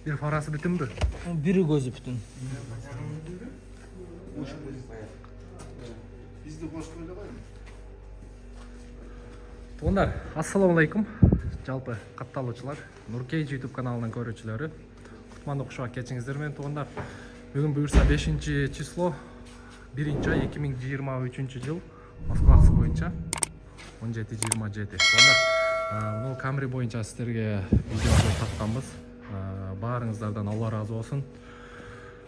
Бир фарасы бүтүнбү? Бири көзү бүтүн. Бизди кошуп эле койгон. Туугандар, ассаламу алейкум. Жалпы катталуучулар, Нуркей YouTube каналынын көрүүчүлөрү. Кутмандуу куш кечиңиздер менен туугандар. Бүгүн буюрса 5-число 1-ай 2023 жыл Москвасы боюнча 17:27. Туугандар, мына Камри боюнча сиздерге видео тартканбыз. Баарыңыздардан Алла ыраазы болсун.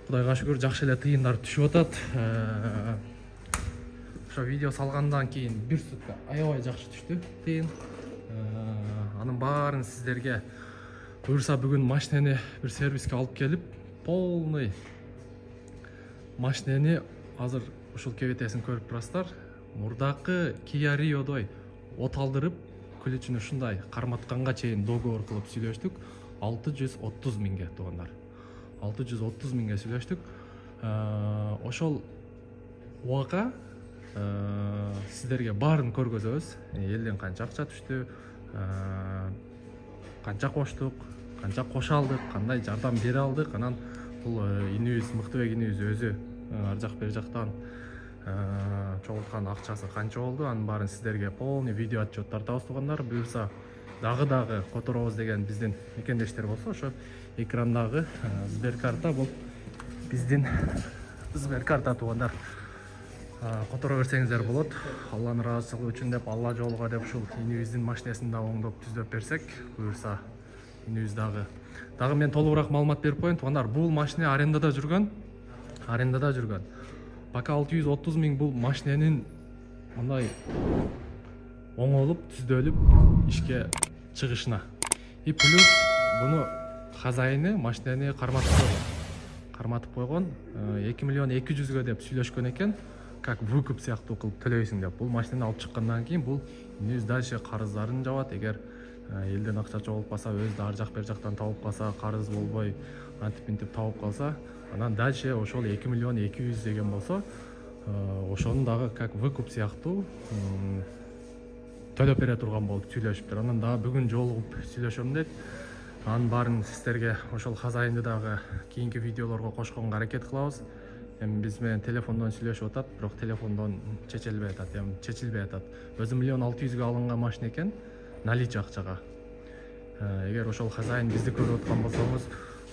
Кудайга шүгүр, жакшы эле тыйындар түшүп атат. Ошо видео салгандан кийин бир сутка аябай жакшы түштү тыйын. Анын баарын сиздерге буюрса бүгүн машинени бир сервиске алып келип, полный машинени азыр ушул кебетесин көрүп турасыздар. Мурдакы Kia Rio'дой от алдырып, күлүчүнү ушундай карматканга чейин договор кылып сүйлөштүк. 630 миңге туугандар. 630 миңге сүйлөштүк. Ошол убакка сиздерге баарын көргөзөбүз. Элден канча акча түштү, канча коштук, канча кошо алдык, кандай жардам бере алдык. Анан бул инүүбүз, Мыктыбек инүүбүз өзү ар жак бер жактан чогулткан акчасы канча болду, анын баарын сиздерге полный видео отчет тартабыз туугандар. Буюрса дагы которобуз деген биздин мекендештер болсо, ошо экрандагы Сберкарта бул биздин Сберкарта туугандар. Которо берсеңиздер болот. Алланын ыраазычылыгы үчүн деп, Алла жолуга деп ушул инүүбүздүн машинесин да оңдоп түздөп берсек, буюрса инүүбүз дагы мен толугураак маалымат берип коеюн туугандар. Бул машина арендада жүргөн. Пока 630 миң бул машиненин мындай оңолуп, түздөлүп ишке чыгышына. И плюс буну хозяйны машинени карматып койгон. 2 миллион 200 деп сүйлөшкөн экен. Как выкуп сыяктуу кылып төлөйсүң деп. Бул машинени алып чыккандан кийин бул инүүбүз дальше карыздарын жабат. Эгер элден акча чогултпаса, өзү ар жак бер жактан табып калса, карыз болбой антип табып калса, анан дальше ошол 2 миллион 200 деген болсо, ошону дагы как выкуп сыяктуу төлөп бере турган болуп сүйлөшүптүр. Анан дагы бүгүн жолугуп сүйлөшөм дейт. Анын баарын сиздерге ошол хозяйнды дагы кийинки видеолорго кошконго аракет кылабыз. Эми биз менен телефондон сүйлөшүп атат, бирок телефондон чечилбей атат. Өзү 1 миллион 600 алынган машина экен, наличие акчага. Эгер ошол хозяин бизди көрүп аткан болсоңуз,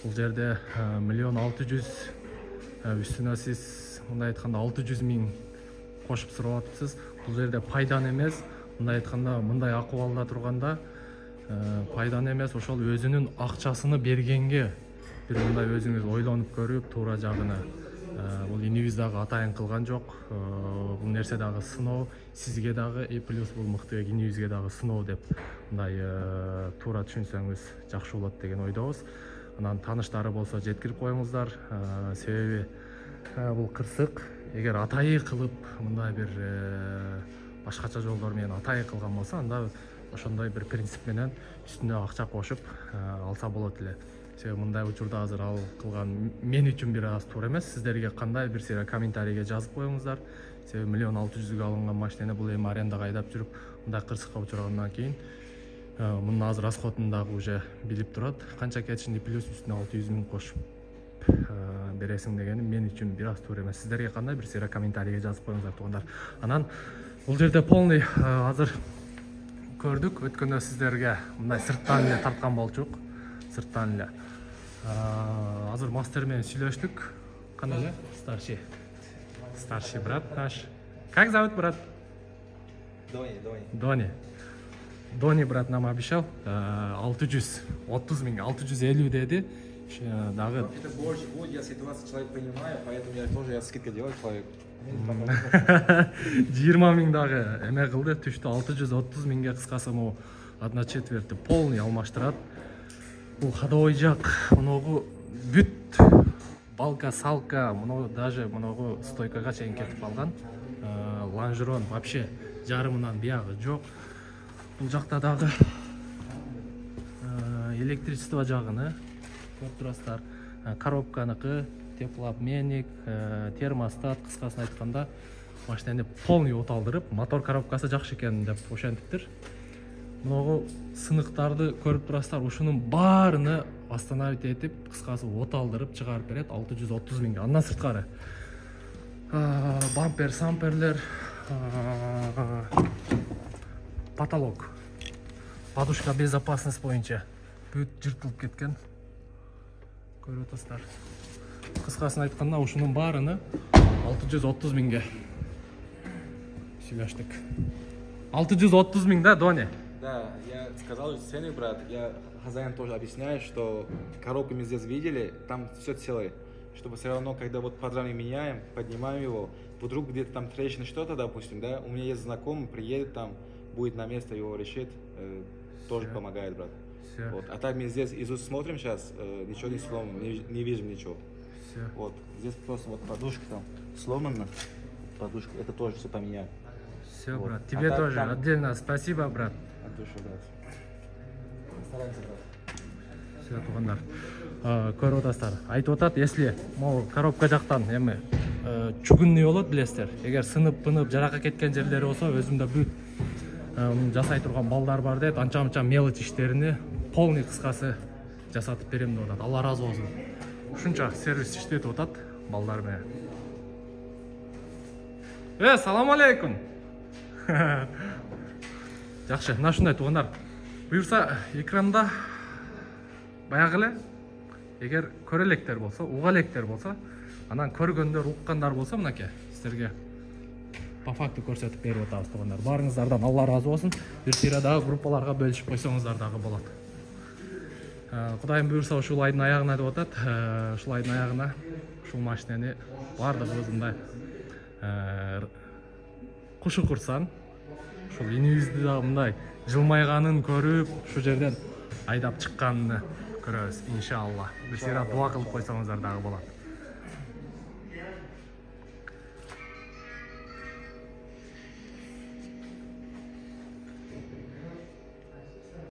бул жерде 1 миллион 600 үстүнө сиз мындай айтканда 600 миң кошуп сурап атыпсыз. Бул жерде пайдан эмес, мындай айтканда, мындай акыбалда турганда пайдан эмес, ошол өзүнүн акчасыны бергенге бир мындай өзүңүз ойлонуп көрүп, туура жагына. Бул инүүбүз дагы атайын кылган жок. Бул нерсе дагы сыноо, сизге дагы, и плюс бул Мыктыбек инүүбүзгө дагы сыноо деп мындай туура түшүнсөңүз жакшы болот деген ойдобуз. Анан тааныштары болсо жеткирип коюңуздар. Себеби бул кырсык эгер атайы кылып, мындай бир башкача жолдор менен атайы кылган болсо, анда ошондой бир принцип менен үстүнө акча кошуп алса болот эле. Себеби мындай учурда азыр ал кылган мен үчүн бир аз туура эмес. Сиздерге кандай бир сыйра комментарийге жазып коюңуздар. Себеби 1 миллион 600 алынган машинени бул эми арендага айдап жүрүп, мындай кырсыкка учургандан кийин мунун азыр расходун дагы уже билип турат. Канча кетишинди плюс үстүнө 600 миң кошуп бересиң дегени мен үчүн бир аз туура эмес. Сиздерге кандай бир сыйра комментарийге жазып коюңуздар туугандар. Анан бул жерде полный азыр көрдүк. Өткөндө сиздерге мындай сырттан эле тарткан болчук. Сырттан эле. Азыр мастер менен сүйлөштүк. Кандай эле? Старший брат наш. Как зовут брат? Дони брат нам обещал 630 миң, 650 деди. Дагы это больше будет, я ситуацию человек понимаю, поэтому я тоже скидка делаю человек. 20 миң дагы эме кылды, түштү. 630 миңге кыскасы могу 1/4 полный алмаштырат. Бул ходовой жак, моногу бүт балка, салка, моногу даже моногу стойкага чейин кетип калган. Лонжерон вообще жарымынан биягы жок. Бул жакта дагы электричество жагыны көрүп турасыздар. Коробканыкы, теплообменник, термостат, кыскасын айтканда машинени полный от алдырып, мотор коробкасы жакшы экен деп ошентиптир. Мынагу сыныктарды көрүп турасыздар. Ушунун баарыны остановить этип, кыскасы от алдырып чыгарып берет 630 миңге. Андан сырткары бампер, самперлер, потолок, подушка безопасность боюнча бүт жыртылып кеткен. Көрүп атасыздар. Кыскасын айтканда, ушунун баарыны 630 миңге сүйлөштүк. 630 миң, да, Доня? Да, я сказал цены, брат. Я хозяин тоже объясняю, что коробку мы здесь видели, там все целое. Чтобы все равно, когда вот подрамник меняем, поднимаем его, вдруг где-то там трещина, что-то, допустим, да, у меня есть знакомый, приедет там, будет на место его решит, тоже помогает, брат. Вот. А так мы здесь из уст смотрим сейчас, ничего не сломано, не видим ничего. Вот. Здесь просто вот подушка там сломана, подушка, это тоже все поменяем. Все, вот. Брат, тебе тоже там... отдельно спасибо, брат. От души, брат. Стараемся, брат. Все, тугандар. Көрүп атасыздар. Айтып атат, если могу коробка жактан эми чугунный болот, билесиздер. Эгер сынып жаракка кеткен жерлери болсо, өзүмдө бүт жасай турган балдар бар дейт. Анча-мынча мелочь иштерини полный кыскасы жасатып берем деп атат. Алла разы болсун. Ушунча сервис иштетип атат балдар менен. Салам алейкум. Жакшы, мына ушундай тугандар. Буюрса экранда баягы эле эгер көрө электер болсо, уга электер болсо, анан көргөндөр, уккандар болсо, мынакей сиздерге по факту көрсөтүп берип атабыз тугандар. Баарыңыздардан Алла разы болсун. Бир тыйра дагы группаларга бөлүшүп койсоңуздар дагы болот. Кудайым буюрса ушул айдын аягына деп атат. Ушул айдын аягына ушул машинени баардыгыбыз мындай кушу курсан, ушул инибизди дагы мындай жылмайганын көрүп, ушу жерден айдап чыкканын көрөбүз, иншалла. Бир сыйра дуа кылып койсоңуздар дагы болот.